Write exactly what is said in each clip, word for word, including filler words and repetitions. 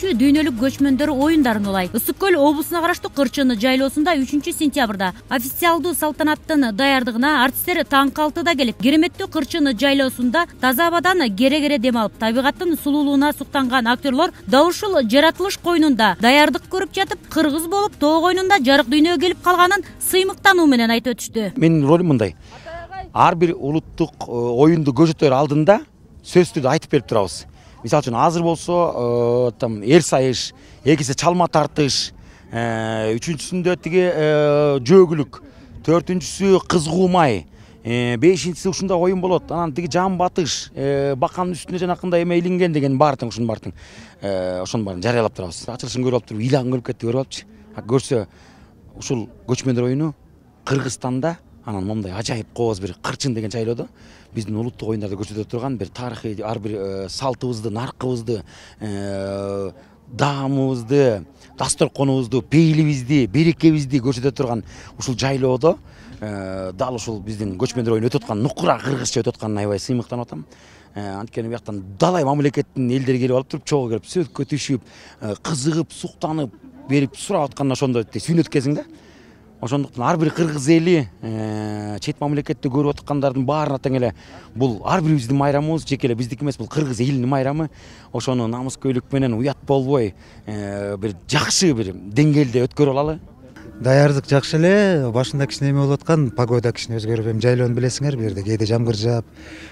үчүнчү дүйнөлүк көчмөндөр оюндарын улайт. Ысык көл облусуна караштуу Кырчын жайлоосунда үчүнчү сентябрда официалдуу салтанаттын даярдыгына артисттер таң алтыда келип, кереметтүү Кырчын жайлоосунда таза абадан кере-кере дем алып, табигаттын сулуулугуна суктанган актерлор дал ушул жаратылыш койнунда даярдык көрүп жатып, кыргыз болуп тоо койнунда жарык дүйнөгө келип калганын сыймыктануу менен айтып өтүштү. Менин ролум мындай: ар бир улуттук оюнду көрсөтөр алдында сөздү айтып берип турабыз. Мисалы үчүн азыр болсо там эл сайыш, экинчиси чалма тартыш, үчүнчүсүндө тиги жөөгүлүк, төртүнчүсү кызгуу май, бешинчиси ушундай оюн болот. Анан тиги жан батыш, баканын үстүнө жанакындай эме илинген деген бар тең, ушунун баардыгын ошонун баарын жарыялап турабыз. Ачылышын көрүп алып туруп ыйлагым келип кетти, көрүп алыпчы. Көрсө ушул көчмөндөр оюну Кыргызстанда анан момундай ажайып кооз бир Кырчын деген жайлоодо биздин улуттук оюндарды көрсөтө турган бир тарыхый ар бир салтыбызды, наркыбызды, даамыбызды, дасторконубузду, пейилибизди, берекебизди көрсөтө турган ушул жайлоодо дал ушул биздин көчмөндөр оюну өтүп аткан, нукура кыргызча өтүп атканына аябай сыймыктанып атам. Анткени бияктан далай мамлекеттин элдери келип алып туруп, чогуу келип сөткө түшүп, кызыгып, суктанып берип сурап атканына ошондо сүйүнөт экенсиң да. Ошондуктан ар бир кыргыз эли, чет мамлекетте көрүп аткандардын баарына тең эле бул ар бирибиздин майрамыбыз, жеке эле биздики эмес, бул кыргыз элинин майрамы. Ошону намыскөйлүк менен, уят болбой, бир жакшы бир деңгээлде өткөрүп алалы. Даярдык жакшы эле, башында кичине эме болуп аткан, погода кичине өзгөрүп, эми жайлоону билесиңер, бу жерде кээде жамгыр жаап,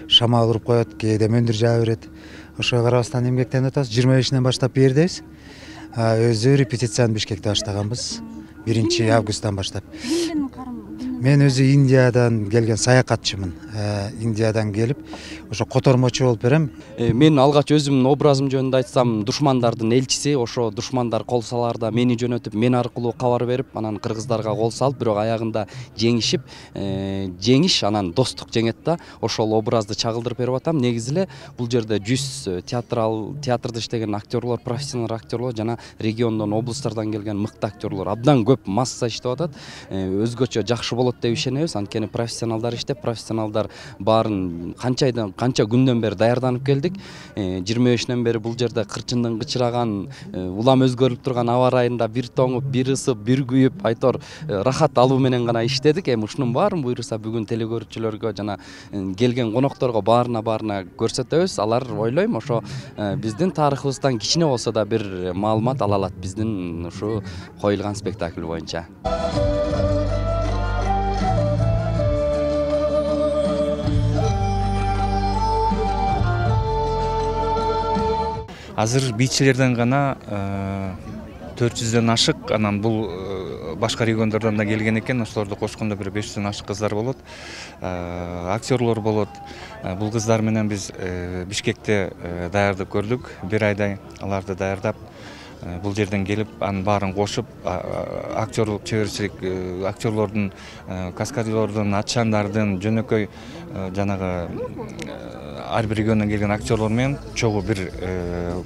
шамал уруп коет, кээде мөндүр жаа берет. Ошого карабастан эмгектенип атабыз. жыйырма бешинен баштап бу жердебиз. Өзү репетицияны Бишкекте баштаганбыз. биринчи августтан баштап. Мен өзү Индиядан келген саякатчымын. Индиядан келип, ошо котормочу болуп берем. Мен алгач өзүмдүн образым жөнүндө айтсам, душмандардын элчиси, ошо душмандар кол салаарда мени жөнөтүп, мен аркылуу кабар берип, анан кыргыздарга кол салып, бирок аягында жеңишип, жеңиш анан достук жеңет да. Ошол образды чагылдырып берип атам. Негизи эле бул жерде жүз театрал театрда иштеген актерлор, профессионал актерлор жана региондон, облустардан келген мыкты актерлор абдан көп масса иштеп атат. Өзгөчө жакшы болот деп ишенебиз. Анткени профессионалдар иштеп, профессионалдар баарын канча айдан, канча күндөн бери даярданып келдик. жыйырма бешинен бери бул жерде Кырчындын кычыраган, улам өзгөрүп турган аба ырайында бир тоңуп, бир ысып, бир күйүп, айтор рахат алуу менен гана иштедик. Эми ушунун баарын буйруса бүгүн телекөрүүчүлөргө жана келген конокторго баарына баарына көрсөтөбүз. Алар ойлойм ошо биздин тарыхыбыздан кичине болсо да бир маалымат ала алат биздин ушу коюлган спектакль боюнча. Азыр бийчилерден гана төрт жүздөн ашык, анан бул башка региондордон да келген экен. Ошолорду кошкондо бир беш жүздөн ашык кыздар болот, актерлор болот. Бул кыздар менен биз Бишкекте даярдык көрдүк. Бир айдай аларды даярдап, бул жерден келип, анын баарын кошуп, актерлук чеберчилик, актерлордун, каскадерлордун, атшандардын, жөнөкөй жанагы ар бир региондон келген актерлор менен чогуу бир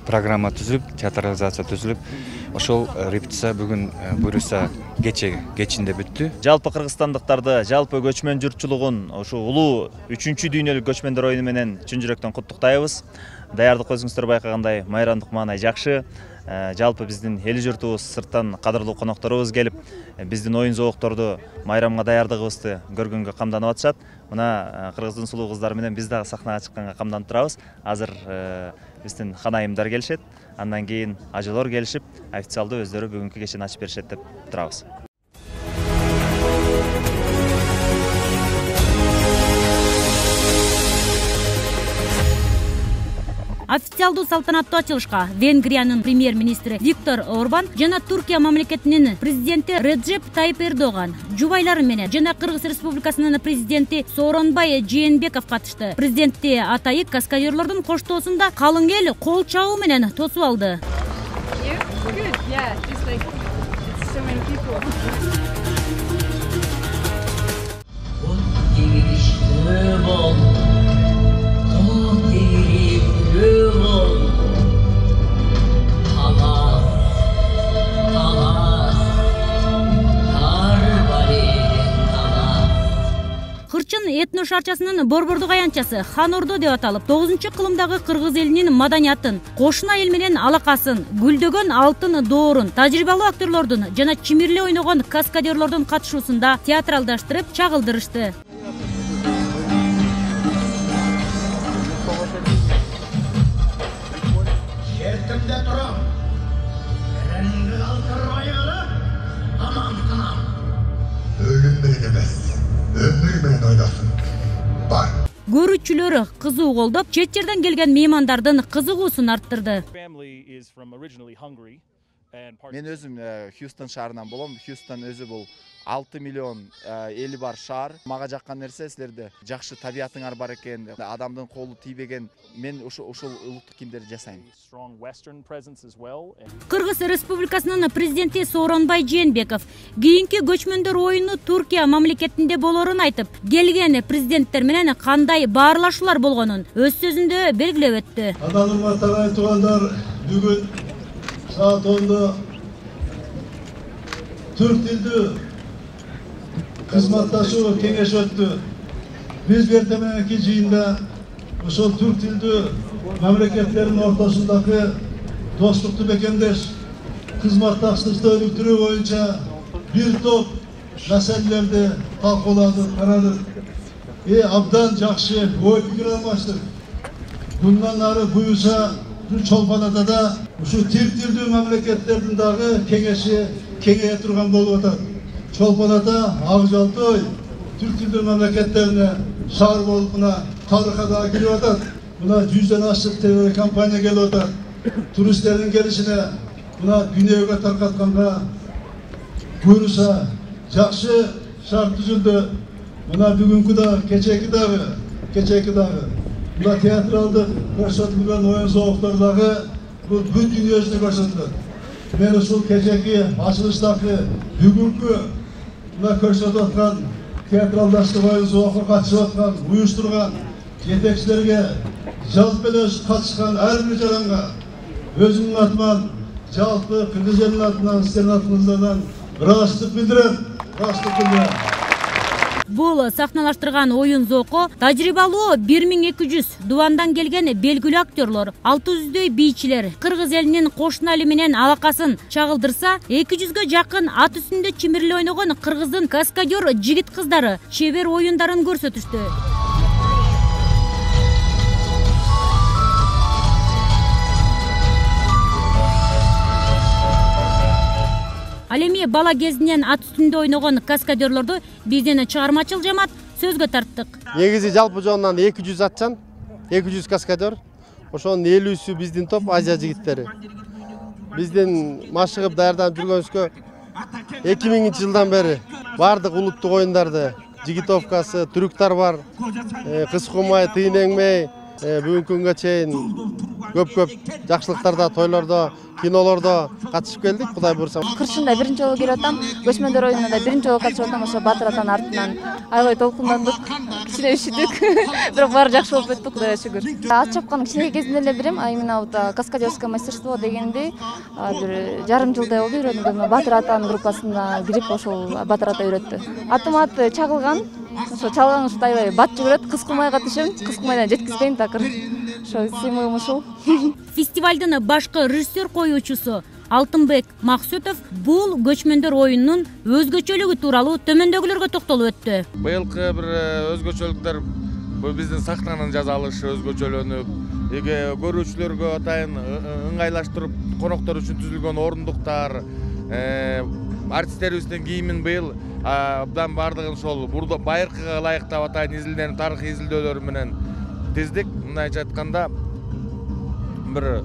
программа түзүлүп, театрализация түзүлүп, ошол репетиция бүгүн буйруса кече кечинде бүттү. Жалпы кыргызстандыктарды, жалпы көчмөн журтчулугун ушу улуу үчүнчү дүйнөлүк көчмөндөр оюну менен чын жүрөктөн куттуктайбыз. Даярдык өзүңүздөр байкагандай майрамдык маанай жакшы. Жалпы биздин эл журтубуз, сырттан кадырлуу конокторубуз келип, биздин оюн зоокторду, майрамга даярдыгыбызды көргөнгө камданып атышат. Мына кыргыздын сулуу кыздары менен биз дагы сахнага чыкканга камданып турабыз. Азыр биздин ханайымдар келишет, андан кийин ажылор келишип, официалдуу өздөрү бүгүнкү кечени ачып беришет деп турабыз. Официалдуу салтанаттуу ачылышка Венгриянын премьер-министри Виктор Орбан жана Туркия мамлекетинин президенти Реджеп Тайип Эрдоган жубайлары менен жана Кыргыз Республикасынын президенти Сооронбай Жээнбеков катышты. Президенти Атайык каскадерлордун коштоосунда калың эл кол чабуу менен тосуп алды. Кырчын этно шарчасынын борбордук аянтчасы Хан Ордо деп аталып, тогузунчу кылымдагы кыргыз элинин маданиятын, кошуна эл менен алакасын, гүлдөгөн алтын доорун, тажрыйбалуу актерлордун жана чимирле ойногон каскадерлордун катышуусунда театралдаштырып чагылдырышты. Жердимде турам, эренди калтырбайгыла, аман тынам. Өлүм менен эмес, өмүр менен ойносын. Бар. Көрүүчүлөр кызуу колдоп, чет жерден келген меймандардын кызыгуусун арттырды. Мен өзүм Хьюстон шаарынан болом. Хьюстон өзү бул алты миллион эли бар шаар. Мага жаккан нерсе силерде жакшы табиятыңар бар экен, адамдын колу тийбеген. Мен ушул ушул улуттук кийимдерди жасайм. Кыргыз Республикасынын президенти Сооронбай Жээнбеков кийинки көчмөндөр оюну Туркия мамлекетинде болорун айтып, келген президенттер менен кандай баарлашуулар болгонун өз сөзүндө белгилеп өттү. Адалыма тарай туугандар, бүгүн саат онда төрт тилдүү кызматташуу кеңеш өттү. Биз эртеңки жыйында ошол түрк тилдүү мамлекеттердин ортосундагы достукту бекемдеш, кызматташтыкты өнүктүрүү боюнча бир топ маселелерди талкууладык, карадык. Э абдан жакшы ой пикир алмаштык. Bundan ары буюрса чолпонада да ушу түрк тилдүү мамлекеттердин дагы кеңеши кеңейе турган болуп атат. Чолпонада Ак Жалтой түрк тилдүү мамлекеттерине шаар болуп мына тарыхка да кирип атат. Мына жүздөн ашык телекомпания келип атат. Туристтердин келишине мына дүйнөгө таркатканга буюрса жакшы шарт түзүлдү. Мына бүгүнкү да, кечеки дагы, кечеки дагы мына театралдык көрсөтүлгөн оюн зооктору дагы бул бүт дүйнөсүнө көрсөтүлөт. Мен ушул кечеки ачылыштагы бүгүнкү мына көрсөтүп аткан театралдаштык оюн зоокко катышып аткан, уюштурган жетекчилерге, жалпы эле катышкан ар бир жаранга өзүмдүн атыман, жалпы кыргыз элинин атынан, сиздердин атыңыздардан ыраазычылык билдирем, ыраазычылык билдирем. Бул сахналаштырган оюн зоокко тажрыйбалуу бир миң эки жүз дубандан келген белгилүү актерлор, алты жүздөй бийчилер кыргыз элинин кошуна эли менен алакасын чагылдырса, эки жүзгө жакын ат үстүндө чимирле ойногон кыргыздын каскадер жигит кыздары чебер оюндарын көрсөтүштү. Ал эми бала кезинен ат үстүндө ойногон каскадерлорду биздин чыгармачыл жамаат сөзгө тарттык. Негизи жалпы жонунан эки жүз атчан, эки жүз каскадер. Ошонун элүүсү биздин топ Азия жигиттери. Биздин машыгып даярданып жүргөнүбүзгө эки миңинчи жылдан бери бардык улуттук оюндарды, жигитовкасы, трюктар бар, кыз кумай, тыйын эңмей, бүгүнкү күнгө чейин көп-көп жакшылыктарда, тойлордо, кинолордо катышып келдик, Кудай буйрса. Кырчында биринчи жолу келип атам, көчмөндөр оюнуна биринчи жолу катышып атам, ошо Батыр атанын артынан аябай толкундандык, кичине üşүдүк, бирок баары жакшы болуп өттү, Кудайга шүгүр. Ат чапканды кичине кезинде эле билем, а именно вот каскадерское мастерство дегенди бир жарым жылдай болду үйрөнгүм. Батыр атанын группасына кирип ошол Батыр ата үйрөттү. Атым ат чагылган, ошо чалган ушундай аябай бат жүгүрөт, кыз кумай катышым, кыз кумайдан жеткизбейм такыр. Ошо сыймыгым ушул. Фестивалдын башкы режиссер коюучусу Алтынбек Максутов бул көчмөндөр оюнунун өзгөчөлүгү тууралуу төмөндөгүлөргө токтолуп өттү. Быйылкы бир өзгөчөлүктөр бул биздин сахнанын жазалышы өзгөчөлөнүп, эге көрүүчүлөргө атайын ыңгайлаштырып, коноктор үчүн түзүлгөн орундуктар, артисттерибиздин кийимин быйыл абдан бардыгын ошол байыркыга ылайыктап атайын изилденip, тарыхый изилдөөлөр менен тиздик. Мындайча айтканда бир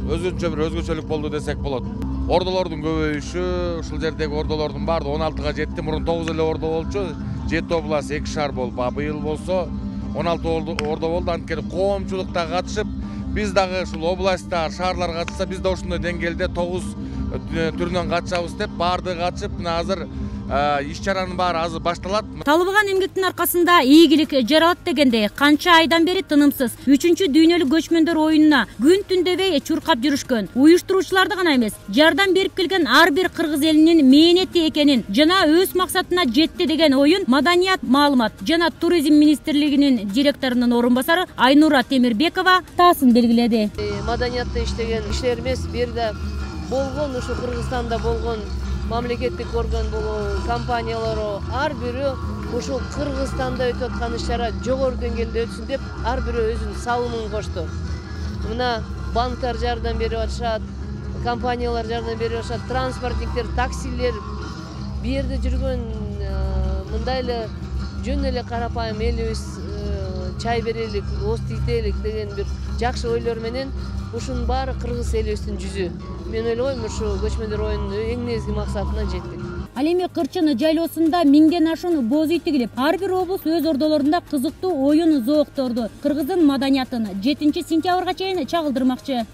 өзүнчө бир өзгөчөлүк болду десек болот. Ордолордун көбөйүшү, ушул жердеги ордолордун баардыгы он алтыга жетти. Мурун тогуз эле ордо болчу, жети область, эки шаар болуп, а быйыл болсо он алты ордо болду. Анткени коомчулукта катышып, биз дагы ушул областтар, шаарлар катышса, биз да ушундай деңгээлде тогуз түрүнөн катышабыз деп баардыгы катышып мына азыр иш чаранын баары азыр башталат. Талыбыган эмгектин аркасында ийгилик жаралат дегендей канча айдан бери тынымсыз үчүнчү дүйнөлүк көчмөндөр оюнуна күн түн дебей чуркап жүрүшкөн уюштуруучуларды гана эмес, жардам берип келген ар бир кыргыз элинин мээнети экенин жана өз максатына жетти деген оюн Маданият, маалымат жана туризм министрлигинин директорунун орун басары Айнура Темирбекова таасын белгиледи. Маданиятта иштеген кишилерибиз бир да болгон ушу Кыргызстанда болгон мамлекеттик орган болобу, компаниялары ар бирөө ушул Кыргызстанда өтүп аткан иш-чара жогору деңгээлде өтсүн деп ар бирөө өзүнүн салымын кошту. Мына банктар жардам берип атышат, компаниялар жардам берип атышат, транспортниктер, таксилер, бу жерде жүргөн мындай эле жөн эле карапайым элибиз чай берелик, оз тителик деген бир жакшы ойлор менен ушунун баары кыргыз элибиздин жүзү. Мен ойлойм, ушу көчмөндөр оюнунун эң негизги максатына жеттик. Ал эми Кырчын жайлоосунда миңден ашуун боз үй тигилип, ар бир облус өз ордолорунда кызыктуу оюн зоокторду, кыргыздын маданиятын жетинчи сентябрга чейин чагылдырмакчы.